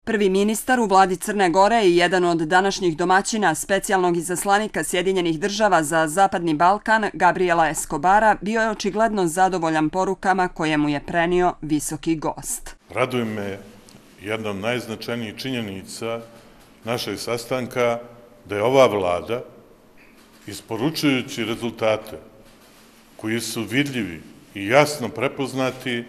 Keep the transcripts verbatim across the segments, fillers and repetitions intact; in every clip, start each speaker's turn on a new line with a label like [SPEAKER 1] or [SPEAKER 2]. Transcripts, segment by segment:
[SPEAKER 1] Prvi ministar u vladi Crne Gore i jedan od današnjih domaćina specijalnog izaslanika Sjedinjenih država za Zapadni Balkan, Gabriela Escobara, bio je očigledno zadovoljan porukama koje mu je prenio visoki gost.
[SPEAKER 2] Raduje me jedna od najznačajnijih činjenica našeg sastanka da je ova vlada, isporučujući rezultate koji su vidljivi i jasno prepoznati,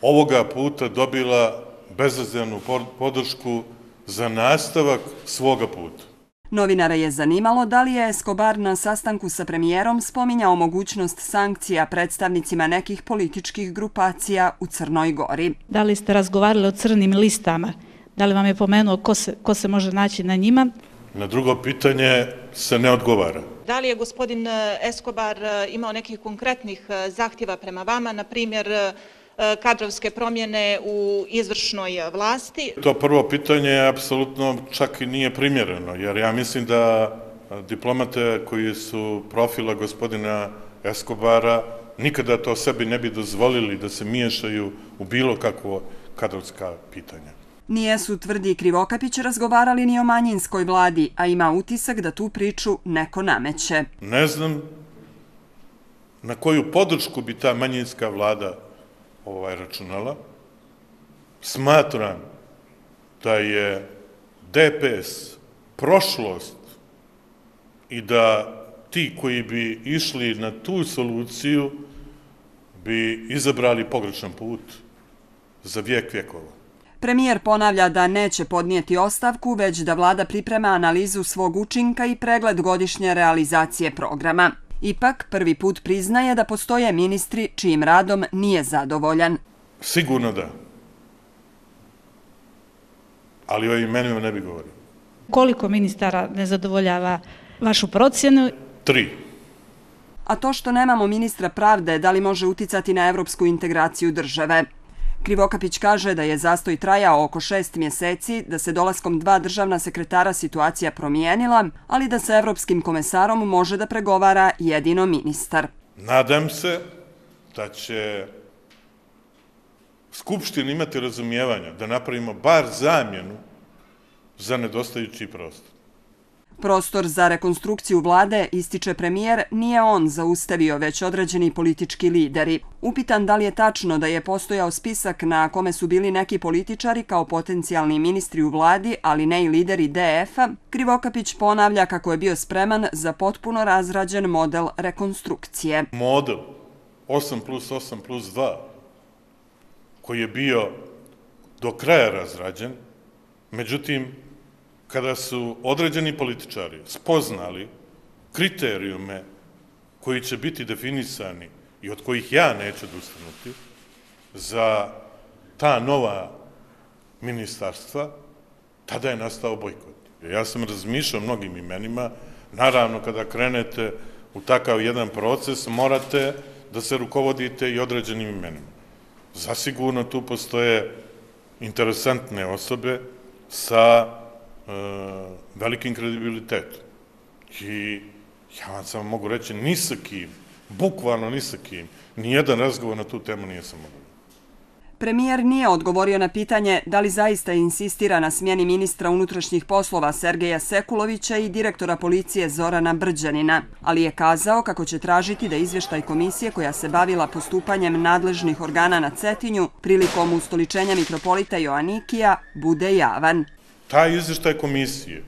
[SPEAKER 2] ovoga puta dobila bezrezervnu podršku za nastavak svoga puta.
[SPEAKER 1] Novinara je zanimalo da li je Escobar na sastanku sa premijerom spominjao mogućnost sankcija predstavnicima nekih političkih grupacija u Crnoj Gori.
[SPEAKER 3] Da li ste razgovarali o crnim listama? Da li vam je pomenuo ko se, ko se može naći na njima?
[SPEAKER 2] Na drugo pitanje se ne odgovara.
[SPEAKER 4] Da li je gospodin Escobar imao nekih konkretnih zahtjeva prema vama, na primjer kadrovske promjene u izvršnoj vlasti?
[SPEAKER 2] To prvo pitanje apsolutno čak i nije primjereno, jer ja mislim da diplomate koji su profila gospodina Escobara nikada to sebi ne bi dozvolili da se miješaju u bilo kakvo kadrovska pitanja.
[SPEAKER 1] Nijesu, tvrdi Krivokapić, razgovarali ni o manjinskoj vladi, a ima utisak da tu priču neko nameće.
[SPEAKER 2] Ne znam na koju podršku bi ta manjinska vlada ovaj računala. Smatram da je D P S prošlost i da ti koji bi išli na tu soluciju bi izabrali pogrešan put za vijek vjekova.
[SPEAKER 1] Premijer ponavlja da neće podnijeti ostavku, već da vlada priprema analizu svog učinka i pregled godišnje realizacije programa. Ipak, prvi put priznaje da postoje ministri čijim radom nije zadovoljan.
[SPEAKER 2] Sigurno da. Ali o imenima ne bi govorio.
[SPEAKER 3] Koliko ministara ne zadovoljava vašu procjenu?
[SPEAKER 2] Tri.
[SPEAKER 1] A to što nemamo ministra pravde, da li može uticati na evropsku integraciju države? Krivokapić kaže da je zastoj trajao oko šest mjeseci, da se dolaskom dva državna sekretara situacija promijenila, ali da sa evropskim komesarom može da pregovara jedino ministar.
[SPEAKER 2] Nadam se da će Skupština imati razumijevanja da napravimo bar zamjenu za nedostajući prostor.
[SPEAKER 1] Prostor za rekonstrukciju vlade, ističe premijer, nije on zaustavio, već određeni politički lideri. Upitan da li je tačno da je postojao spisak na kome su bili neki političari kao potencijalni ministri u vladi, ali ne i lideri D F-a, Krivokapić ponavlja kako je bio spreman za potpuno razrađen model rekonstrukcije.
[SPEAKER 2] Model osam plus osam plus dva, koji je bio do kraja razrađen, međutim, kada su određeni političari spoznali kriterijume koji će biti definisani i od kojih ja neću odustanuti za ta nova ministarstva, tada je nastao bojkot. Ja sam razmišljao o mnogim imenima. Naravno, kada krenete u takav jedan proces, morate da se rukovodite i određenim imenima. Zasigurno tu postoje interesantne osobe sa velikim kredibilitetom. I ja vam samo mogu reći, ni sa kim, bukvalno ni sa kim, nijedan razgovor na tu temu nije sam mogu.
[SPEAKER 1] Premijer nije odgovorio na pitanje da li zaista insistira na smjeni ministra unutrašnjih poslova Sergeja Sekulovića i direktora policije Zorana Brđanina, ali je kazao kako će tražiti da izvještaj komisije koja se bavila postupanjem nadležnih organa na Cetinju prilikom ustoličenja mitropolita Joanikija bude javan.
[SPEAKER 2] Taj izvještaj komisije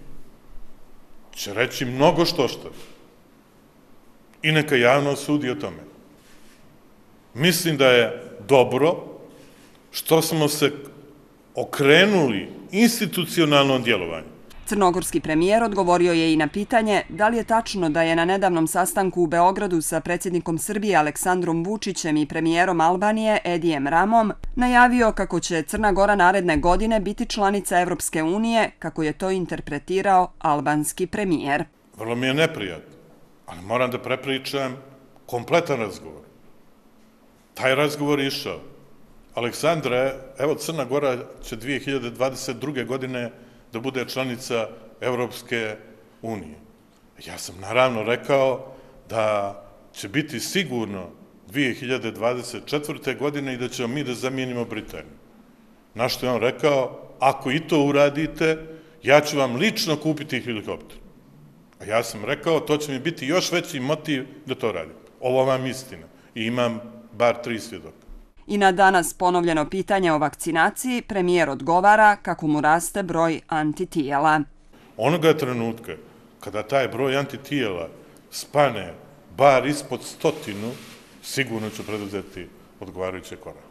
[SPEAKER 2] će reći mnogo što što i neka javno sudi o tome. Mislim da je dobro što smo se okrenuli institucionalnom djelovanju.
[SPEAKER 1] Crnogorski premijer odgovorio je i na pitanje da li je tačno da je na nedavnom sastanku u Beogradu sa predsjednikom Srbije Aleksandrom Vučićem i premijerom Albanije Edijem Ramom najavio kako će Crna Gora naredne godine biti članica Evropske unije, kako je to interpretirao albanski premijer.
[SPEAKER 2] Vrlo mi je neprijatno, ali moram da prepričam kompletan razgovor. Taj razgovor je išao. Aleksandre, evo Crna Gora će dvije hiljade dvadeset druge. godine da bude članica Evropske unije. Ja sam naravno rekao da će biti sigurno dvije hiljade dvadeset četvrte. godine i da ćemo mi da zamijenimo Britaniju. Na što je on rekao, ako i to uradite, ja ću vam lično kupiti helikopter. A ja sam rekao, to će mi biti još veći motiv da to radim. Ovo vam istina. I imam bar tri svjedoka.
[SPEAKER 1] I na danas ponovljeno pitanje o vakcinaciji, premijer odgovara kako mu raste broj antitijela.
[SPEAKER 2] Onoga trenutka kada taj broj antitijela spane bar ispod stotinu, sigurno ću preduzeti odgovarajuće korake.